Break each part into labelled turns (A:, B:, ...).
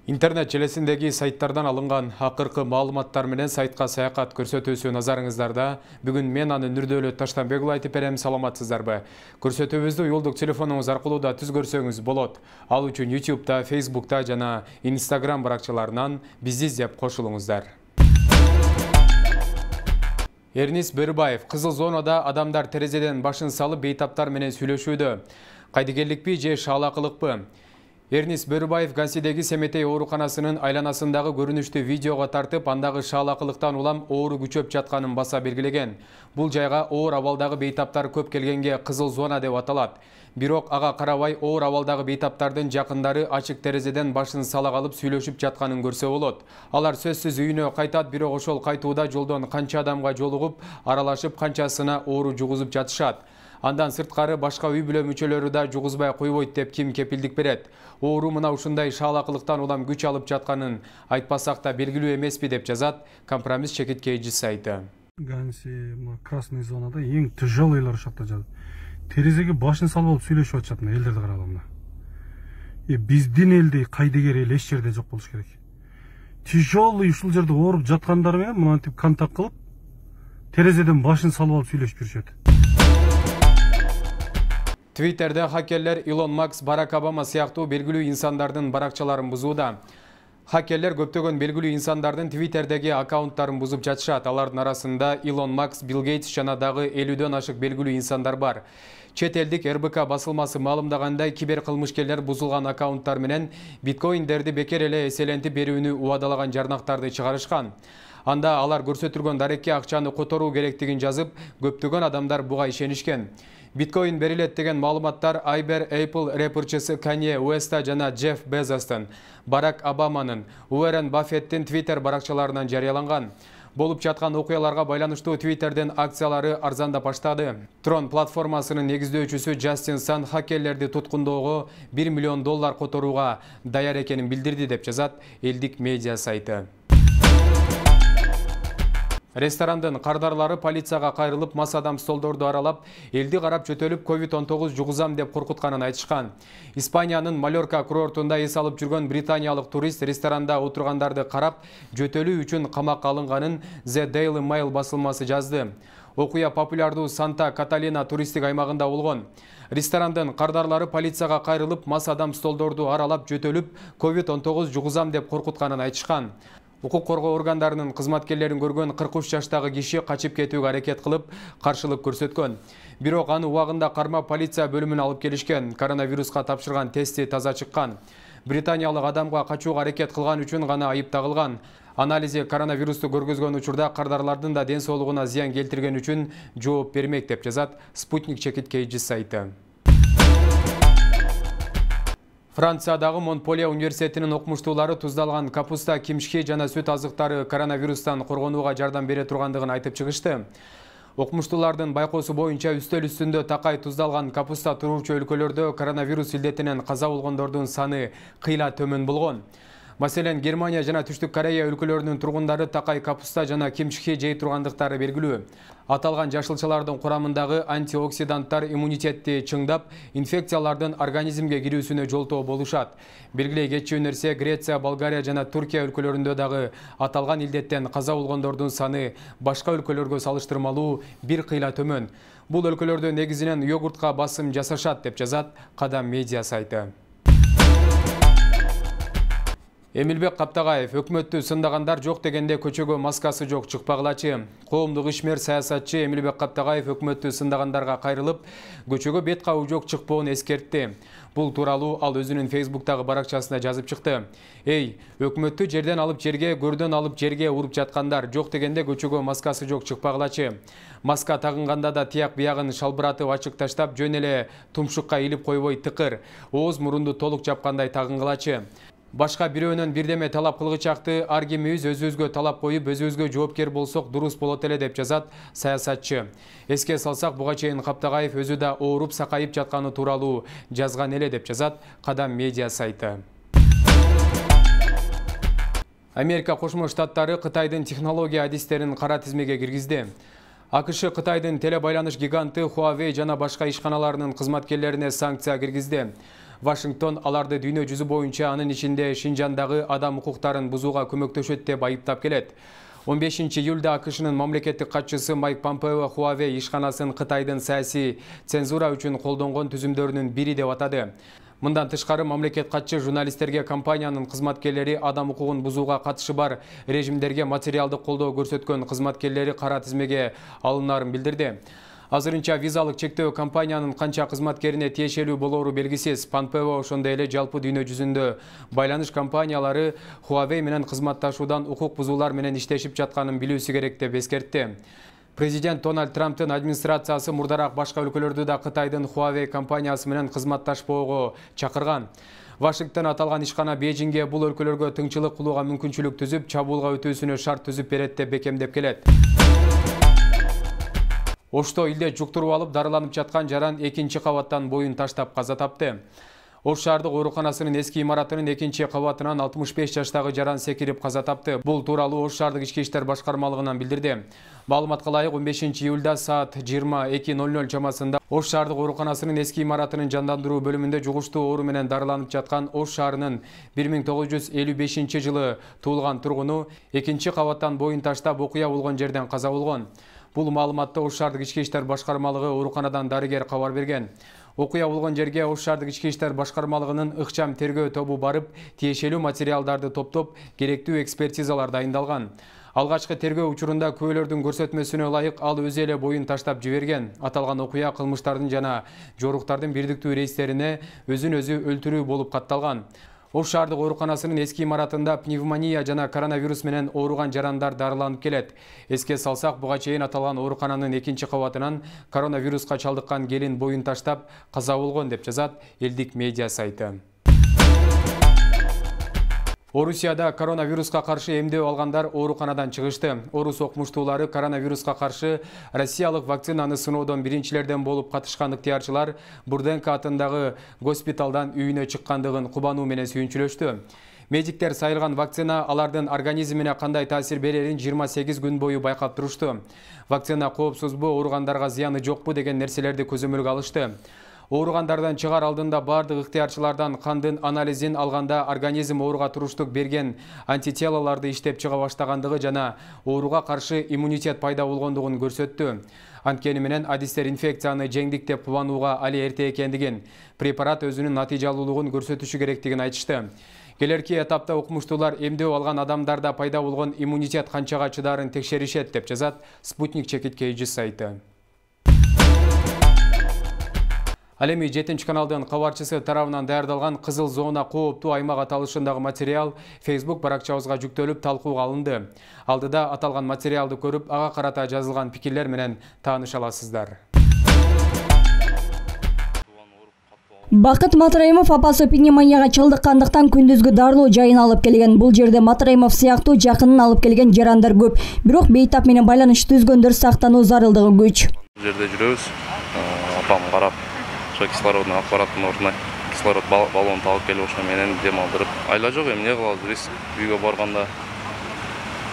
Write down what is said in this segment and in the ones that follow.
A: Интернет желесиндеги сайттардан алынган акыркы маалыматтар менен сайтка саякат көрсөтүүсү назарыңыздарда. Бүгүн мен аны Нурдөөлөт Таштанбекұлы айтып берем, саламатсыздарбы? Көрсөтүүбүздү уюлдук телефонуңуз аркылуу да түз көрсөңүз болот. Ал үчүн YouTube'да, Facebook'та жана Instagram баракчаларынан бизди издеп кошулуңуздар. Эрнис Бөрүбаев кызыл зонада адамдар терезеден башын салып бейтаптар менен сүйлөшүүдө. Кайдыгерликпи же шаалакылыкпы? Эрнис Бөрүбаев Гансидеги Семетей ооруканасынын айланасындагы көрүнүштү видеого тартып, андагы шаалакылыктан улам оору күчөп жатканын баса белгилеген. Бул жайга оор абалдагы бейтаптар көп келгенге кызыл зона деп аталат. Бирок ага карабай оор абалдагы бейтаптардын жакындары ачык терезеден башын сала калып сүйлөшүп жатканын көрсө болот. Алар сөзсүз үйүнө кайтат, бирок ошол кайтууда жолдон канча адамга жолугуп, аралашып, канчасына оору жугузуп жатышат. Андан сырткары башка үй бүлө мүчөлөрү да жугузбай койбойт деп ким кепилдик берет? Оору мына ушундай шаалакылыктан улам күч алып жатканын айтпасак да белгилүү эмеспи деп жазат Компромисс чекиткейчи сайты.
B: Ганси красный зонада эң тяжелыйлар ушакта жатат. Терезеге башын салып алып сүйлөшүп атышат мына элдерди караганда. Биздин элдей кайдыгер эл эч жерде жок болуш керек. Тяжелый ушул жерде ооруп жаткандар менен мынтип контакт кылып, терезеден башын салып алып сүйлөшүп жүрүшөт.
A: Твиттерде хакерлер Илон Маск, Барак Обама сыяктуу белгилүү инсандардын баракчаларын бузууда. Хакерлер көптөгөн белгилүү инсандардын Твиттердеги аккаунттарын бузуп жатышат. Алардын арасында Илон Маск, Билл Гейтс жана дагы 50дөн ашык белгилүү инсандар бар. Чет элдик РБК басылмасы маалымдагандай, кибер кылмышкерлер бузулган аккаунттар менен биткоиндерди бекер эле эселентип берүүнү убадалаган жарнактарды чыгарышкан. Анда алар көрсөтүлгөн дарекке акчаны которуу керектигин жазып, көптөгөн адамдар буга ишенишкен. Биткоин берилет деген маалыматтар Айбер Apple рэперчиси Канье Уэста жана Джефф Безостун, Барак Обаманын, Уоррен Баффеттин Твиттер баракчаларынан жарыяланган. Болуп жаткан окуяларга байланыштуу Твиттердин акциялары арзандап баштады. Трон платформасынын негиздөөчүсү Джастин Сан хакерлерди туткундоого $1 миллион которууга даяр экенин билдирди деп жазат элдик медиа сайты. Ресторандын кардарлары полицияга кайрылып, мас адам столдорду аралап, элди карап жөтөлүп COVID-19 жугузам деп коркутканын айтышкан. Испаниянын Малорка курортунда эс алып жүргөн британиялык турист ресторанда отургандарды карап, жөтөлүү үчүн камакка алынганын The Daily Mail басылмасы жазды. Окуя популярдуу Санта Каталина туристтик аймагында болгон. Ресторандын кардарлары полицияга кайрылып, мас адам столдорду аралап, жөтөлүп, COVID-19 жугузам деп коркутканын айтышкан. Укук коргоо органдарынын кызматкерлерин көргөн 43 жаштагы киши качып кетүүгө аракет кылып, каршылык көрсөткөн. Бирок аны убагында кармап полиция бөлүмүнө алып келишкен. Коронавируска тапшырган тести таза чыккан. Британиялык адамга качууга аракет кылган үчүн гана айып тагылган. Анализи коронавирусту көргөзгөн учурда кардарлардын да ден соолугуна зыян келтирген үчүн жооп бермек деп жазат Спутник чекиткейчи сайты. Франциядагы Монполье университетинин окумуштуулары туздалган капуста, кимшки жана сүт азыктары коронавирустан коргонууга жардам бере тургандыгын айтып чыгышты. Окумуштуулардын байкоосу боюнча үстөл үстүндө такай туздалган капуста туруучу өлкөлөрдө коронавирус илдетинен каза болгондордун саны кыйла төмөн болгон. Маселен, Германия жана Түштүк Корея өлкөлөрүнүн тургундары такай капуста жана кимшки жей тургандыктары белгилүү. Аталган жашылчалардын курамындагы антиоксиданттар иммунитетти чыңдап, инфекциялардын организмге кирүүсүнө жолтоо болушат. Белгилей кетчү нерсе, Греция, Болгария жана Туркия өлкөлөрүндө дагы аталган илдеттен каза болгондордун саны башка өлкөлөргө салыштырмалуу бир кыйла төмөн. Бул өлкөлөрдө негизинен йогуртка басым жасашат деп жазат Кадам медиа сайты. Эмилбек Каптагаев өкмөттү сындагандар жок дегенде көчөгө маскасы жок чыкпагылачы. Коомдук ишмер саясатчы Эмилбек Каптагаев өкмөттү сындагандарга кайрылып, көчөгө бет кабуу жок чыкпоон эскертти. Бул тууралуу ал өзүнүн Facebook'тагы баракчасында жазып чыкты. Эй, өкмөттү жерден алып жерге, көрдөн алып жерге уруп жаткандар, жок дегенде көчөгө маскасы жок чыкпагылачы. Маска тагынганда да тияк биягын шалбыратып ачык таштап, жөн эле тумшукка илип койбой тыкыр, ооз мурунду толук жапкандай тагынгылачы. Башка бирөөнөн бирдеме талап кылгычакты, ар кимибиз өзүбүзгө талап коюп, өзүбүзгө жоопкер болсок дурус болот эле деп жазат саясатчы. Эске салсак, буга чейин Каптагаев өзү да ооруп сакайып жатканы тууралуу жазган эле деп жазат Кадам медиа сайты. Америка Кошмо Штаттары Кытайдын технология адистерин кара тизмеге киргизди. АКШ Кытайдын телебайланыш гиганты Huawei жана башка ишканаларынын кызматкерлерине санкция киргизди. Вашингтон аларды дүйнө жүзү боюнча, анын ичинде Шинжандагы адам укуктарын бузууга көмөктөшөт деп айыптап келет. 15 июлда АКШнын мамлекеттик катчысы Майк Помпео Huawei ишканасын Кытайдын саясий цензура үчүн колдонгон түзүмдөрүнүн бири деп атады. Мындан тышкары мамлекет катчы журналисттерге компаниянын кызматкерлери адам укугун бузууга катышы бар режимдерге материалдык колдоо көрсөткөн кызматкерлери кара тизмеге алынарын билдирди. Азырынча визалык чектөө компаниянын канча кызматкерине тиешелүү болору белгисиз. Помпео ошондой эле жалпы дүйнө жүзүндө байланыш компаниялары Huawei менен кызматташуудан укук бузуулар менен иштешип жатканын билүүсү керек деп эскертти. Президент Дональд Трамптын администрациясы мурдараак башка өлкөлөрдү да Кытайдын Huawei компаниясы менен кызматташпоого чакырган. Вашингтон аталган ишкана Бейжиңге бул өлкөлөргө тыңчылык кылууга мүмкүнчүлүк түзүп, чабуулга өтүүсүнө шарт түзүп берет деп бекемдеп келет. Ошто илде жуктуруп алып дарыланып жаткан жаран 2-кабаттан боюн таштап каза тапты. Ош шаардык ооруканасынын эски имаратынын 2-кабатынан 65 жаштагы жаран секирип каза тапты. Бул тууралуу Ош шаардык ички иштер башкармалыгынан билдирди. Маалыматка ылайык 15 июлда саат 22:00 чамасында Ош шаардык ооруканасынын эски имаратынын жандандыруу бөлүмүндө жугуштуу оору менен дарыланып жаткан Ош шаарынын 1955-жылы туулган тургуну 2-кабаттан боюн таштап окуя болгон жерден каза болгон. Бул маалыматты Ош шаардык ички иштер башкармалыгы ооруканадан дарыгер кабар берген. Окуя болгон жерге Ош шаардык ички иштер башкармалыгынын ыкчам тергөө тобу барып, тиешелүү материалдарды топтоп, керектүү экспертизалар дайындалган. Алгачкы тергөө учурунда күбөлөрдүн көрсөтмөсүнө ылайык ал өзү эле боюн таштап жиберген. Аталган окуя кылмыштардын жана жоруктардын бирдиктүү рейстерине өзүн өзү өлтүрүү болуп катталган. Ош шаардык ооруканасынын эски имаратында пневмония жана коронавирус менен ооруган жарандар дарыланып келет. Эске салсак, буга чейин аталган оорукананын 2-кабатынан коронавируска чалдыккан келин боюн таштап каза болгон деп жазат элдик медиа сайты. Орусияда коронавируска каршы эмдөө алгандар ооруканадан чыгышты. Орус окумуштуулары коронавируска каршы россиялык вакцинаны сыноодон биринчилерден болуп катышкан ыктыярчылар Бурденко атындагы госпиталдан үйүнө чыккандыгын кубануу менен сүйүнчүлөштү. Медиктер сайылган вакцина алардын организмине кандай таасир берерин 28 күн бою байкап турушту. Вакцина коопсузбу, ооругандарга зыяны жокпу деген нерселерди көзөмөлгө алышты. Ооругандардан чыгаар алдында бардык ыктыярчылардан кандын анализин алганда организм ооруга туруштук берген антителолорду иштеп чыга баштагандыгы жана ооруга каршы иммунитет пайда болгондугун көрсөттү. Анткени менен адистер инфекцияны жеңдик деп кубанууга али эрте экендигин, препарат өзүнүн натыйжалуулугун көрсөтүшү керектигин айтышты. Келерки этапта окумуштуулар эмдөө алган адамдарда пайда болгон иммунитет канчага чыдарын текшеришет деп жазат Спутник чекиткейчи сайты. Ал эми 7-каналдын кабарчысы тарабынан даярдалган кызыл зона кооптуу аймак аталышындагы материал Facebook баракчабызга жүктөлүп талкууга алынды. Алдыда аталган материалды көрүп, ага карата жазылган пикирлер менен тааныша аласыздар.
C: Бакыт Матраимов апасы пневмонияга чалдыккандыктан күндүзгү дарылоо жайын алып келген. Бул жерде Матраимов сыяктуу жакынын алып келген жарандар көп. Бирок бейтап менен байланыш түзгөндөр сактануу зарылдыгы күч.
D: Бул жерде жүрөбүз. Апам карап, кислородный аппараттын ордуна кислород баллонун алып келип ошо менен дем алдырып. Айла жок, эмне кылабыз? Риск үйгө барганда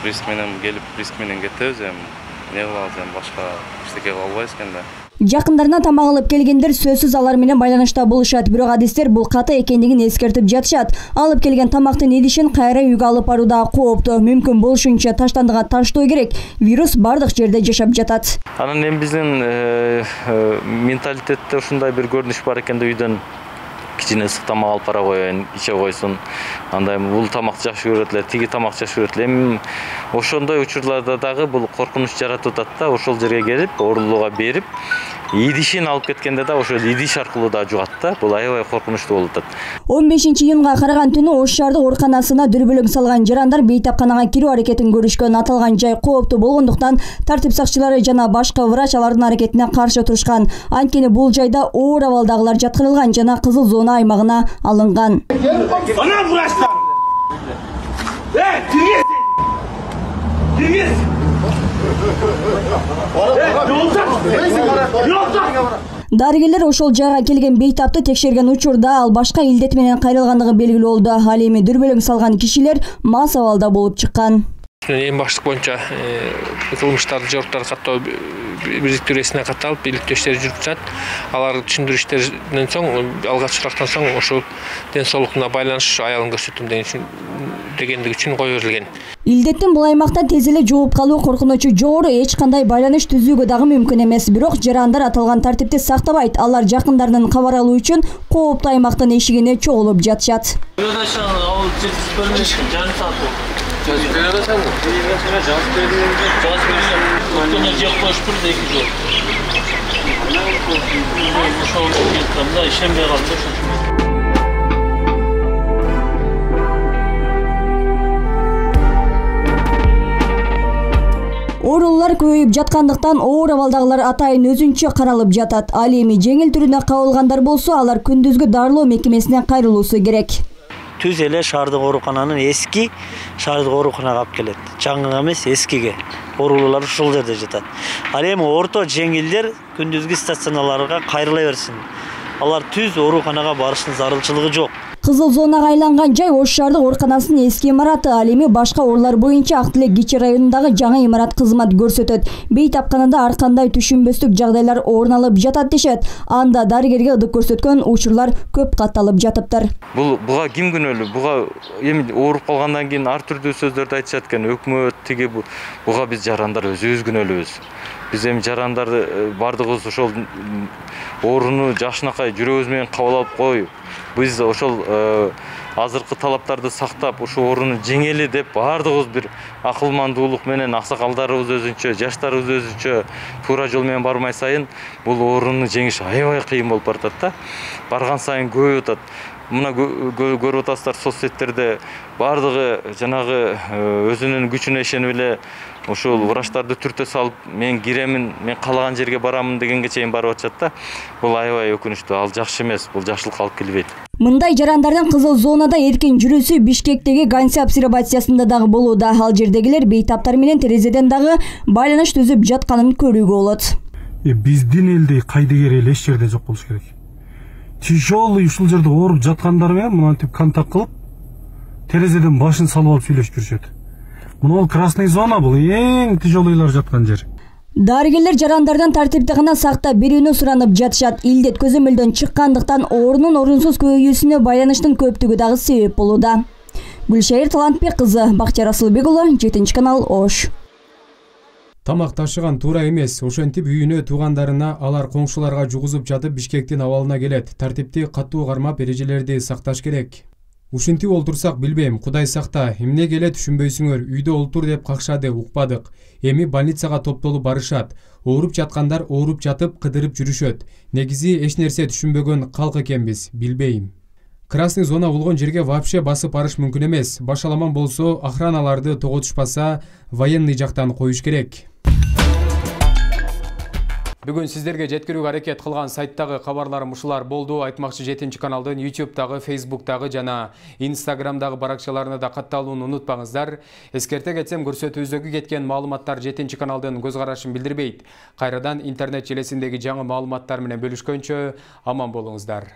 D: риск менен келип, риск менен кетебиз. Эмне кылабыз? Башка эчтеке кыла албайбыз экен да.
C: Жакындарына тамак алып келгендер сөзсүз алар менен байланышта болушат, бирок адистер бул каты экендигин эскертип жатышат. Алып келген тамактын идишин кайра үйгө алып баруу да кооптуу. Мүмкүн болушунча таштандыга таштоо керек. Вирус бардык жерде жашап жатат.
E: Анан эми биздин менталитетте ушундай бир көрүнүш бар экен да, үйдөн кичине ысык тамак алып бара коеюн, иче койсун. Андай бул тамакты жакшы көрөт эле, тиги тамакты жакшы көрөт эле. Эми ошондой учурларда дагы бул коркунуч жаратып атат да, ошол жерге келип, оорулууга берип, идишин алып кеткенде да ошол идиш аркылуу да жугат да. Бул аябай коркунучтуу болуп атат. 15
C: июнга караган түнү Ош шаардык ооруканасына дүрбөлөң салган жарандар бейтапканага кирүү аракетин көрүшкөн. Аталган жай кооптуу болгондуктан тартип сакчылары жана башка врач алардын аракетине каршы турушкан. Анткени бул жайда оор абалдагылар жаткырылган жана кызыл зона аймагына алынган.
F: Ана врачтар! Тиргиз!
C: Дарыгерлер ошол жайга келген бейтапты текшерген учурда ал башка илдет менен кайрылгандыгы белгилүү болду. Ал эми дүрбөлөң салган кишилер мас абалда болуп чыккан.
G: Эң баштык боюнча кылмыштарды жоруктарды каттоо бириктирүүсүнө катталып, иликтөө иштери жүрүп жатат. Алар түшүндүрүү иштеринен соң, алгач сурактан соң ошол ден соолугуна байланыш аялын көрсөтөм дегендиги үчүн кое берилген.
C: Илдеттин бул аймакта тез эле жугуп калуу коркунучу жогору, эч кандай байланыш түзүүгө дагы мүмкүн эмес. Бирок жарандар аталган тартипти сактабайт. Алар жакындарынан кабар алуу үчүн кооптуу аймактын эшигине чогулуп жатышат. Оорулар көбөйүп жаткандыктан оор абалдагылар атайын өзүнчө каралып жатат. Ал эми жеңил түрүнө кабылгандар болсо, алар күндүзгү дарылоо мекемесине кайрылуусу керек.
H: Түз эле шаардык оорукананын эски шаардык ооруканага алып келет. Жаңы эмес, эскиге. Оорулуулар ушул жерде жатат. Ал эми орто жеңилдер күндүзгү стационарларга кайрыла берсин. Алар түз ооруканага барыштын зарылчылыгы жок.
C: Кызыл зонага айланган жай Ош шаардык ооруканасынын эски имараты. Ал эми башка оорулар боюнча Ак Тилек кичи районундагы жаңы имарат кызмат көрсөтөт. Бейтапканада ар кандай түшүнбөстүк жагдайлар орун алып жатат дешет. Анда дарыгерге ылдык көрсөткөн учурлар көп катталып жатыптыр.
E: Буга ким күнөөлүү? Буга эми ооруп калгандан кийин ар түрдүү сөздөрдү айтышат экен. Өкмөт тиги буга биз жарандар өзүбүз күнөөлүүбүз. Биз эми жарандар бардыгыбыз ошол ооруну жакшынакай жүрөгүбүз менен кабыл алып коюп, биз ошол азыркы талаптарды сактап, ошол ооруну жеңели деп бардыгыбыз бир акылмандуулук менен, аксакалдарыбыз өзүнчө, жаштарыбыз өзүнчө туура жол менен бармай сайын бул ооруну жеңиш аябай кыйын болуп баратат да. Барган сайын көбөйүп атат. Мына көрүп атасыздар соц сеттерде бардыгы жанагы өзүнүн күчүнө ишенип эле ошол врачтарды түртө салып, мен киремин, мен каалаган жерге барамын дегенге чейин барып атышат да. Бул аябай өкүнүчтүү, ал жакшы эмес, бул жакшылыкка алып келбейт.
C: Мындай жарандардын кызыл зонада эркин жүрүүсү Бишкектеги Ганси обсервациясында дагы болууда. Ал жердегилер бейтаптар менен терезеден дагы байланыш түзүп жатканын көрүүгө болот.
B: Биздин элдей кайдыгер эл эч жерде жок болуш керек. Тяжелый ушул жерде ооруп жаткандар менен мынтип контакт кылып, терезеден башын салып алып сүйлөшүп жүрүшөт. Мына красный зона, бул эң тяжелыйлар жаткан жер.
C: Дарыгерлер жарандардан тартипти гана сактап берүүнү суранып жатышат. Илдет көзөмөлдөн чыккандыктан оорунун орунсуз көбөйүүсүнө байланыштын көптүгү дагы себеп болууда. Гүлшайыр Талантбек кызы, Бактияр Асылбек уулу, 7 канал, Ош.
A: Тамак ташыган туура эмес. Ошентип үйүнө туугандарына, алар коңшуларга жугузуп жатып Бишкектин абалына келет. Тартипти катуу кармап, эрежелерди сакташ керек. Ушинтип олтурсак билбейм, Кудай сакта, эмнеге эле түшүнбөйсүңөр, үйдө олтур деп какшады, укпадык. Эми больницага топтолуп барышат. Ооруп жаткандар ооруп жатып кыдырып жүрүшөт. Негизи эч нерсе түшүнбөгөн калк экенбиз, билбейм. Красный зона болгон жерге вообще басып барыш мүмкүн эмес. Башаламан болсо, охраналарды тоготушпаса, военный жактан коюш керек. Бүгүн сиздерге жеткирүүгө аракет кылган сайттагы кабарларым ушулар болду. Айтмакчы 7 каналдын YouTube'дагы, Facebook'дагы жана Instagram'дагы баракчаларына да катталууну унутпаңыздар. Эскерте кетсем, көрсөтүүбүздөгү кеткен маалыматтар 7 каналдын көз карашын билдирбейт. Кайрадан интернет желесиндеги жаңы маалыматтар менен бөлүшкөнчө аман болуңуздар.